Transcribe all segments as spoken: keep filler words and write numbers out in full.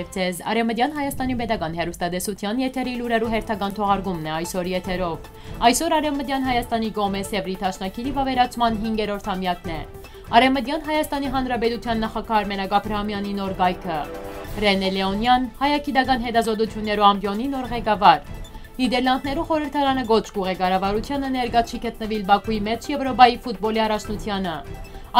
Ձեզ Արեւմտեան Հայաստանի պետական հեռուստատեսութեան եթերի լուրերու հերթական թողարկումն է այսօր եթերով։ Այսօր Արեւմտեան Հայաստանի կողմէ Սեւրի դաշնակիրի վաւերացման հինգերորդ ամեակն է։ Արեւմտեան Հայաստանի Հանրապետութեան նախագահ Արմենակ Աբրահամեանի նոր կայքը։ Ռենե Լեոնեան, հայագիտական հետազոտություններու ամբիոնի նոր ղեկավար։ Նիդերլանդներու խորհրդարանը կոչ կուղղէ կառավարութեանը ներկայ չի գտնուիլ Բաքուի մէջ Եւրոպայի ֆուտբոլի առաջնությանը։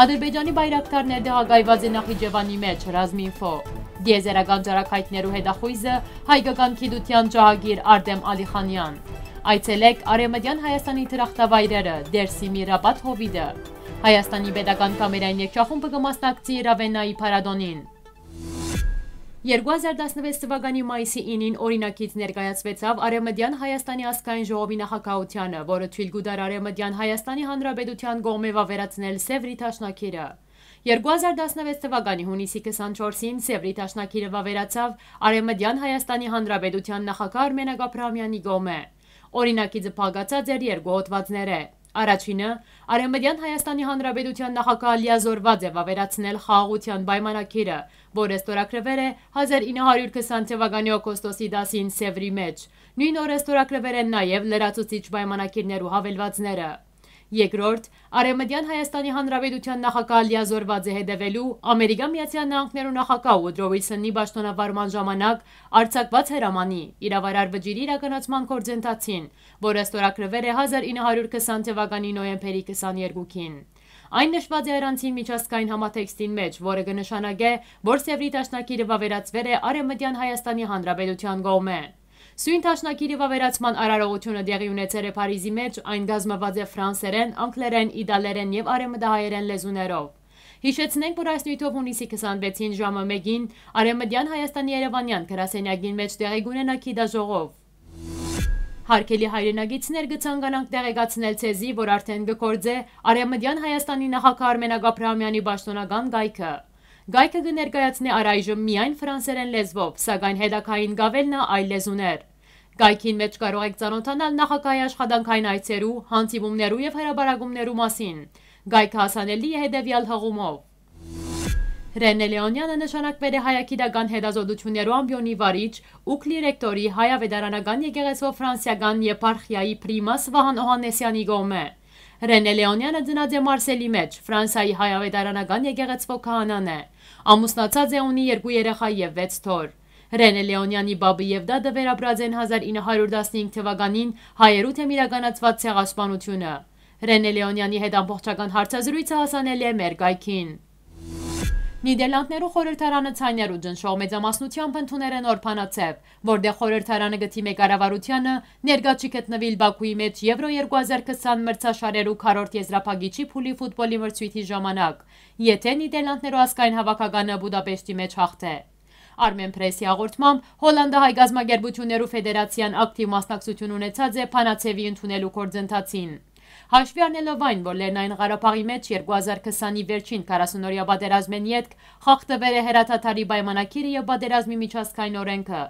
Ադրբեջանի բայրակտարներ տեղակայուած է Նախիջեվանի մէջ, Ռազմինֆո։ Տիեզերական ճառագայթներու հետախոյզը, հայկական գիտութեան ջահագիր Արտեմ Ալիխանեան։ Այցելեք Արեւմտեան Հայաստանի դրախտավայրերը, Դերսիմի Ռապատ հովիտը։ Հայաստանի պետական կամերային երգչախումբը կը մասնակցի Ռավենայի փառատոնին։ Երկու հազար տասնվեց թվականի մայիսի ինին օրինակից ներկայացուեցաւ Արեւմտեան Հայաստանի ազգային ժողովի նախագահությանը, որը թոյլ կու տար Արեւմտեան Հայաստանի Հանրապետութեան կողմէ վաւերացնել Սեւրի դաշնակիրը։ Երկու հազար տասնվեց թվականի յունիսի քսանչորսին Սեւրի դաշնակիրը վաւերացաւ Արեւմտեան Հայաստանի Հանրապետութեան նախագահ Արմենակ Աբրահամեանի կողմէ։ Օրինակիցը փակացած էր երկու հոդվածներէ։ Առաջինը, Արեւմտեան Հայաստանի Հանրապետութեան նախագահ լիազորուած է վաւերացնել խաղաղութեան պայմանագիրը, որը ստորագրուեր է հազար ինը հարիւր քսան թվականի օգոստոսի տասին Սեւրի մէջ։ Նոյն օրը ստորագրուեր են նաեւ լրացուցիչ պայմանագիրներու հավելվածները։ Երկրորդ, Արեւմտեան Հայաստանի Հանրապետութեան նախագահ լիազորուած է հետեւելու Ամերիկա Միացեալ Նահանգներու նախագահ Ուդրո Ուիլսոնի պաշտօնավարման ժամանակ արձակուած հրամանի իրաւարար վճիռի իրականացման գործընթացին, որը ստորագրուեր է հազար ինը հարիւր քսան թվականի նոյեմբերի քսաներկուին։ Այն նշուած է առանցին միջազգային համատեքստին մէջ, որը կը նշանակէ, որ Սեւրի դաշնակիրը վաւերացուեր է Արեւմտեան Հայաստանի Հանրապետութեան կողմէ։ Սոյն դաշնակիրի վաւերացման արարողութիւնը տեղի ունեցեր է Փարիզի մէջ, այն կազմուած է ֆրանսերէն, անգլերէն, իտալերէն եւ արեւմտահայերէն լեզուներով։ Յիշեցնենք, որ այս նիւթով յունիսի քսանվեցին ժամը մէկին Արեւմտեան Հայաստանի Երեւանեան գրասենյակին մէջ տեղի կունենայ գիտաժողով։ Հարգելի հայրենակիցներ, կը ցանկանանք տեղեկացնել ձեզի, որ արդէն կը գործէ Արեւմտեան Հայաստանի նախագահ Արմենակ Աբրահամեանի պաշտօնական կայքը։ Կայքը կը ներկայացնէ առայժմ միայն ֆրանսերէն լեզուով, սակայն հետագային կ'աւելնայ այլ լեզուներ։ Կայքին մէջ կարող էք ծանօթանալ նախագահի աշխատանքային այցերու, հանդիպումներու եւ հրապարակումներու մասին։ Կայքը հասանելի է հետեւեալ հղումով։ Ռենե Լեոնեանը նշանակուեր է հայագիտական հետազոտություններու ամբիոնի վարիչ, Ուկլի ռեկտորի հայ աւետարանական եկեղեցւոյ ֆրանսիական եպարխիայի պրիմաս Վահան Օհաննեսեանի կողմէ։ Ռենե Լեոնեանը ծնած է Մարսելի մէջ, Ֆրանսայի հայ աւետարանական եկեղեցւոյ քահանան է։ Ամուսնացած է, ունի երկու երեխայ եւ վեց թոռ։ Ռենե Լեոնեանի պապը եւ դադը վերապրած են հազար ինը հարիւր տասնհինգ թվականին հայերու դէմ իրականացուած ցեղասպանութիւնը։ Ռենե Լեոնեանի հետ ամբողջական հարցազրոյցը հասանելի է մեր կայքին։ Նիդերլանդներու խորհրդարանը ձայներու ճնշող մեծամասնութեամբ ընդուներ է նոր բանաձեւ, որտեղ խորհրդարանը կը դիմէ կառավարութեանը ներկայ չի գտնուիլ Բաքուի մէջ Եվրո երկու հազար քսան մրցաշարերու քառորդ եզրափակիչի փուլի ֆուտբոլի մրցոյթի ժամանակ, եթէ Նիդերլանդներու ազգային հաւաքականը Բուդապեշտի մէջ հաղթէ։ Արմեն Պրեսի հաղորդմամբ, Հոլանդահայ կազմակերպութիւններու ֆեդերացիան ակտիվ մասնակցութիւն ունեցած է բանաձեւի ընդունելու գործընթացին։ Հաշուի առնելով այն, որ Լեռնային Ղարաբաղի մէջ երկու հազար քսանի վերջին քառասուն օրեայ պատերազմէն ետք խախտուեր է հրադադարի պայմանագիրը եւ պատերազմի միջազգային օրէնքը,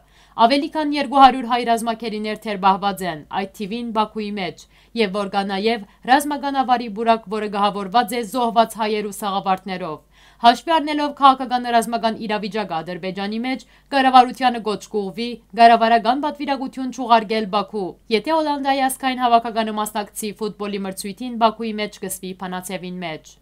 աւելի քան երկու հարիւր հայ ռազմագերիներ թերբահուած են, այդ թիւին Բաքուի մէջ, եւ որ կայ նաեւ ռազմական աւարի պուրակ, որը գահաւորուած է զոհուած հայերու սաղավարտներով։ Հաշուի առնելով քաղաքական ռազմական իրավիճակը Ադրբեջանի մէջ, կառավարութեանը կոչ կ'ուղղուի կառավարական պատուիրակութիւն չուղարկել Բաքու, եթէ Հոլանդայի ազգային հաւաքականը մասնակցի ֆուտբոլի մրցոյթին Բաքուի մէջ կ'ըսուի բանաձեւին մէջ։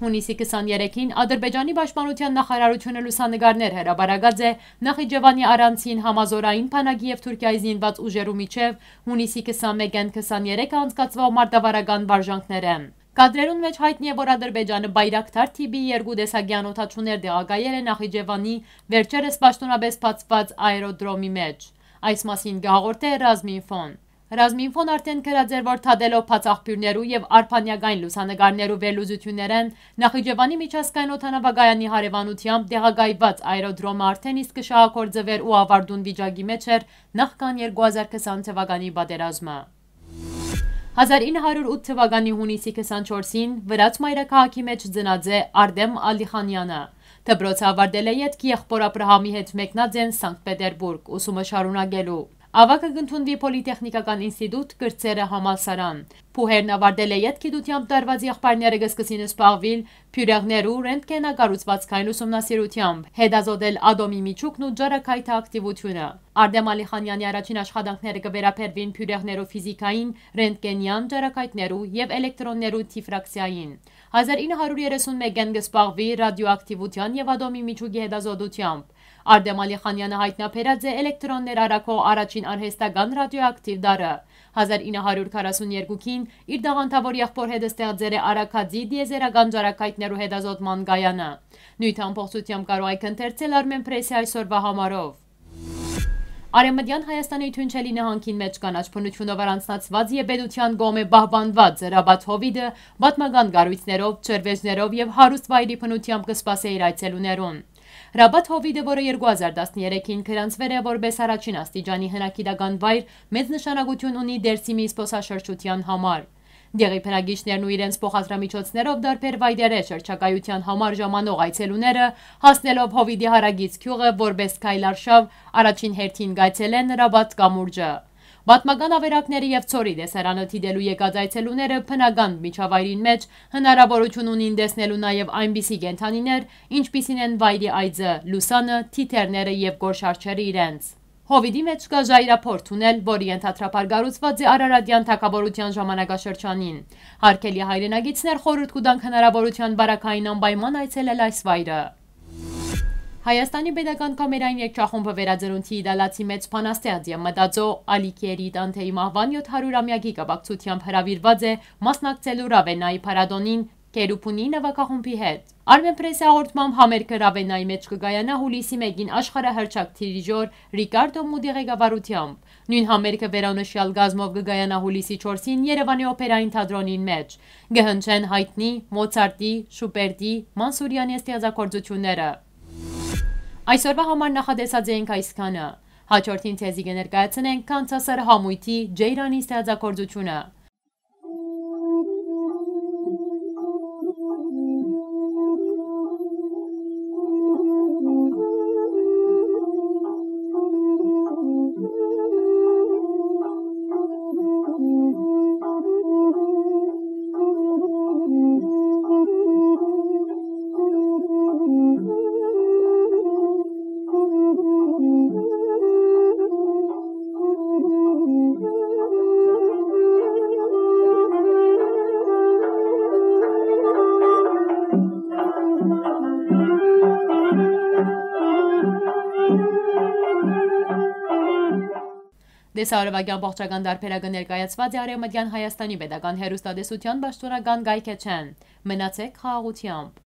Յունիսի քսաներեքին Ադրբեջանի պաշտպանութեան նախարարութիւնը լուսանկարներ հրապարակած է Նախիջեվանի առանցին համազօրային բանակի եւ Թուրքիայի զինուած ուժերու միջեւ յունիսի քսանմէկէն քսաներեքը անցկացուող մարտավարական վարժանքներէն։ Կադրերուն մէջ յայտնի է, որ Ադրբեջանը Բայրակթար թիպի երկու տեսակի անօդաչուներ տեղակայեր է Նախիջեվանի վերջերս պաշտօնապէս բացուած աերոդրոմի մէջ։ Այս մասին կը հաղորդէ Ռազմինֆոն։ Ռազմինֆոն արդէն գրած էր, որ դատելով բաց աղբիւրներու եւ արբանյակային լուսանկարներու վերլուծութիւններէն, Նախիջեվանի միջազգային օդանաւակայանի հարեւանութեամբ տեղակայուած աերոդրոմը արդէն իսկ կը շահագործուէր ու աւարտուն վիճակի մէջ էր նախքան երկու հազար քսան թվականի պատերազմը։ Հազար ինը հարիւր ութ թվականի յունիսի քսանչորսին վրաց մայրաքաղաքի մէջ ծնած է Արտեմ Ալիխանեանը։ Դպրոցը աւարտելէ ետք եղբօր Աբրահամի հետ մեկնած են Սանկտ Պետերբուրգ ուսումը շարունակելու։ Աւագը կ'ընդունուի Պոլիտեխնիկական ինստիտուտ, կրտսերը՝ համալսարան։ Փուհերն աւարտելէ ետք գիտութեամբ տարուած եղբայրները կը սկսին զբաղուիլ բիւրեղներու, ռենտգենագառուցուածքային ուսումնասիրութեամբ, հետազոտել ատոմի միջուկն ու ճառագայթը ակտիվութիւնը։ Արտեմ Ալիխանեանի առաջին աշխատանքները կը վերաբերուին բիւրեղներու ֆիզիքային, ռենտգենեան ճառագայթներու եւ էլեկտրոններու դիֆրակցիային։ Հազար ինը հարիւր երեսուն մէկէն կը զբաղուի ռադիոակտիվութեան եւ ատոմի միջուկի հետազոտութեամբ։ Արտեմ Ալիխանեանը յայտնաբերած է էլեկտրոններ առաքող առաջին արհեստական ռադիոակտիվ տարրը։ Հազար ինը հարիւր քառասուն երկուքին իր տաղանդաւոր եղբոր հետ ստեղծեր է առաքածի տիեզերական ճառագայթներու հետազոտման կայանը։ Նոյթ ամբողջութեամբ կարող եք ընթերցել Armenpress-ի այսօրուայ համարով։ Արեւմտեան Հայաստանի Թունչելի նահանգին մէջ կանաչ բնութիւնով առանձնացուած եւ պետութեան կողմէ պահպանուած Ռաբաթ հովիտը պատմական կառոյցներով, ջրվեժներով եւ հարուստ վայրի բնութեամբ կը սպասէ իր այցելուներուն։ Ռաբաթ հովիտը, որը երկու հազար տասներեքին գրանցուեր է որպէս առաջին աստիճանի հնագիտական վայր, մեծ նշանակութիւն ունի Դերսիմի զբօսաշրջութեան համար։ Դեղի բնակիչներն ու իրենց փոխադրամիջոցներով տարբեր վայրերէ շրջագայութեան համար ժամանող այցելուները, հասնելով հովիտի հարակից գիւղը որպէս քայլարշաւ, առաջին հերթին կայցելեն Ռաբաթ կամուրջը։ Պատմական աւերակների եւ ցորի տեսարանը դիտելու եկած այցելուները բնական միջավայրին մէջ հնարաւորութիւն ունին տեսնելու նաեւ այնպիսի կենդանիներ, ինչպիսին են վայրի այծը, լուսանը, թիթեռները եւ գորշարջերը իրենց։ Հովիտի մէջ կայ ժայռափոր թունել, որ ենթադրաբար կառուցուած է Արարատեան թագաւորութեան ժամանակաշրջանին։ Հարգելի հայրենակիցներ, խորհուրդ կու տանք հնարաւորութեան պարագային անպայման այցելել այս վայրը։ Հայաստանի Պետական Կամերային երգչախումբը վերածնունդի իտալացի մեծ բանաստեղծ եւ մտածող Ալիքիերի Տանթեի մահուան յոթ հարիւր ամեակի կապակցութեամբ հրաւիրուած է մասնակցելու Ռավենայի փառատոնին Կերուբունի նուագախումբի հետ։ Armenpress-ի հաղորդմամբ, համերգը Ռավենայի մէջ կը կայանայ յուլիսի մէկին աշխարհահռչակ դիրիժոր Ռիկարդո Մուտի ղեկավարութեամբ։ Նոյն համերգը վերոնշեալ կազմով կը կայանայ յուլիսի չորսին Երեւանի օփերային թատրոնին մէջ։ Կը հնչեն Հայդնի, Մոցարտի, Շուպերտի, Մանսուրեանի ստեղծագործութիւնները։ Այսօրուայ համար նախատեսած էինք այսքանը։ Հաջորդին ձեզի կը ներկայացնենք Քանսասար համոյթի Ջեյրանի ստեղծագործութիւնը։ Տեսահոլովակի ամբողջական տարբերակը ներկայացուած է Արեւմտեան Հայաստանի Պետական Հեռուստատեսութեան պաշտօնական կայքէջէն։ Մնացեք խաղաղութեամբ։